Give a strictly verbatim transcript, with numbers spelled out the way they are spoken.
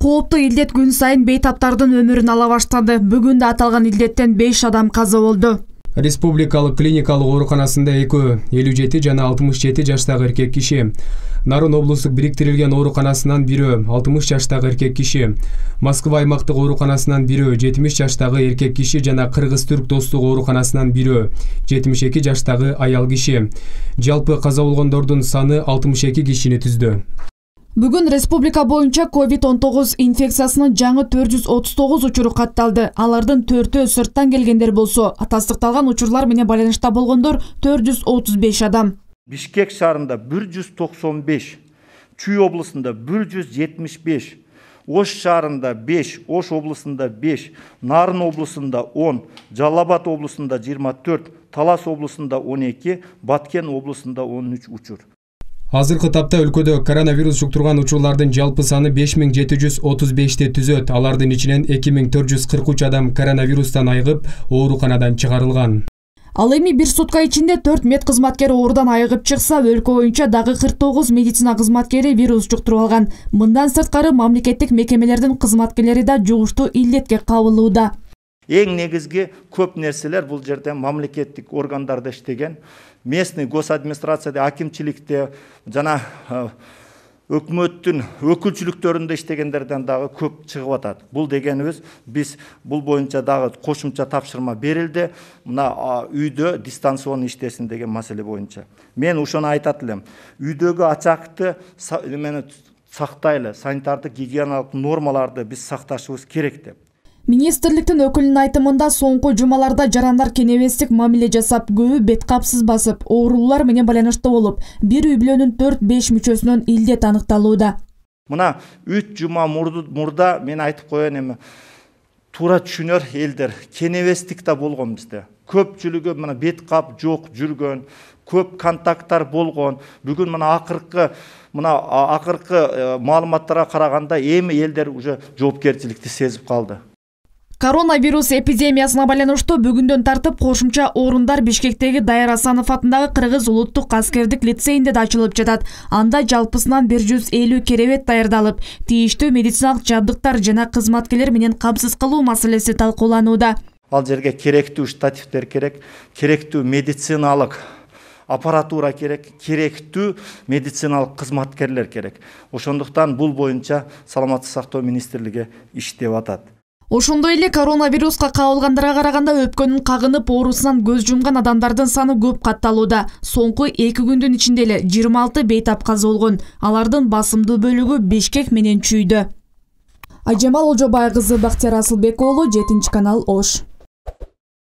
Кооптуу илдет күн сайын бейтаптардын өмүрүн ала баштады. Бүгүн да аталган илдеттен беш адам каза болду. Республикалык клиникалык ооруканасында экөө элүү жети жана алтымыш жети жаштагы эркек киши, Нарын облустук бириктирилген ооруканасынан бирөө алтымыш жаштагы эркек киши, Москва аймактык ооруканасынан бирөө жетимиш жаштагы эркек киши жана Кыргыз-Түрк достук ооруканасынан бирөө жетимиш эки жаштагы аял киши. Жалпы каза болгондордун саны алтымыш эки кишини түздү. Бүгүн республика боюнча ковид он тогуз инфекциясынын жаңы төрт жүз отуз тогуз учуру катталды. Алардын төртөө сырттан келгендер болсо, тастыкталган учурлар менен байланышта болгондор төрт жүз отуз беш адам. Бишкек шаарында бир жүз токсон беш, Чүй облусунда бир жүз жетимиш беш, Ош шаарында беш, Ош облусунда беш, Нарын облусунда он, Жалал Абад облусунда жыйырма төрт, Талас облусунда он эки, Баткен облусунда он үч учур. Азыркы тапта өлкөдө коронавирус жуктурган учурлардын жалпы саны беш миң жети жүз отуз бешти түзөт. Алардын ичинен эки миң төрт жүз кырк үч адам коронавирустан айыгып, ооруканадан чыгарылган. Ал эми бир сутка ичинде төрт мед кызматкери оорудан айыгып чыкса, өлкө боюнча дагы кырк тогуз медицина кызматкери вирус жуктуруп алган. Мындан сырткары мамлекеттик мекемелердин кызматкерлери да жугуштуу илдетке кабылууда. Эң негизги көп нерселер бул жерде мамлекеттик органдарда иштеген, местный госадминистрацияда, акимчиликте жана өкмөттүн өкүлчүлүктөрүндө иштегендерден дагы көп чыгып атат. Бул дегенибиз биз бул боюнча дагы кошумча тапшырма берилди. Мына үйдө дистанцион иштесин деген маселе боюнча. Мен ошону айтат элем. Үйдөгү ачакты эмени сактайлы, санитардык гигиеналык нормаларды биз сакташыбыз керек деп. Министрликтин өкүлүнүн айтымында соңку жумаларда жарандар кенебестик мамиле жасап, көбү бет капсыз басып, оорулар менен байланышта болуп, бир үй бүлөнүн төрт беш мүчөсүнөн илдет аныкталууда. Мына үч жума мурда мен айтып коеюн, эми туура түшүнөр элдер, кенебестик да болгон бизде. Көпчүлүгү мына бет кап жок жүргөн, көп контакттар болгон. Бүгүн мына акыркы мына акыркы маалыматтарга караганда эми элдер уже жоопкерчиликти сезип калды. Коронавирус эпидемиясына байланыштуу бүгүндөн тартып кошумча орундар Бишкектеги Дайыр Асанов атындагы Кыргыз улуттук аскердик лицейинде да ачылып жатат. Анда жалпысынан бир жүз элүү керебет даярдалып, тийиштүү медициналык жабдыктар жана кызматкерлер менен камсыз кылуу маселеси талкууланууда. Ал жерге керектүү штативдер керек, керектүү медициналык аппаратура керек, керектүү медициналык кызматкерлер керек. Ошондуктан бул боюнча Саламаттык сактоо министрлиги иштеп атат. Ошондой эле коронавируска кабылгандарга караганда өпкөнүн кагынып оорусунан көз жумган адамдардын саны көп катталууда. Соңку эки күндүн ичинде эле жыйырма алты бейтап каза болгон. Алардын басымдуу бөлүгү Бишкек менен Чүйдө. Ажамал Олжобай кызы, Бактияр Асылбек уулу, жетинчи канал, Ош.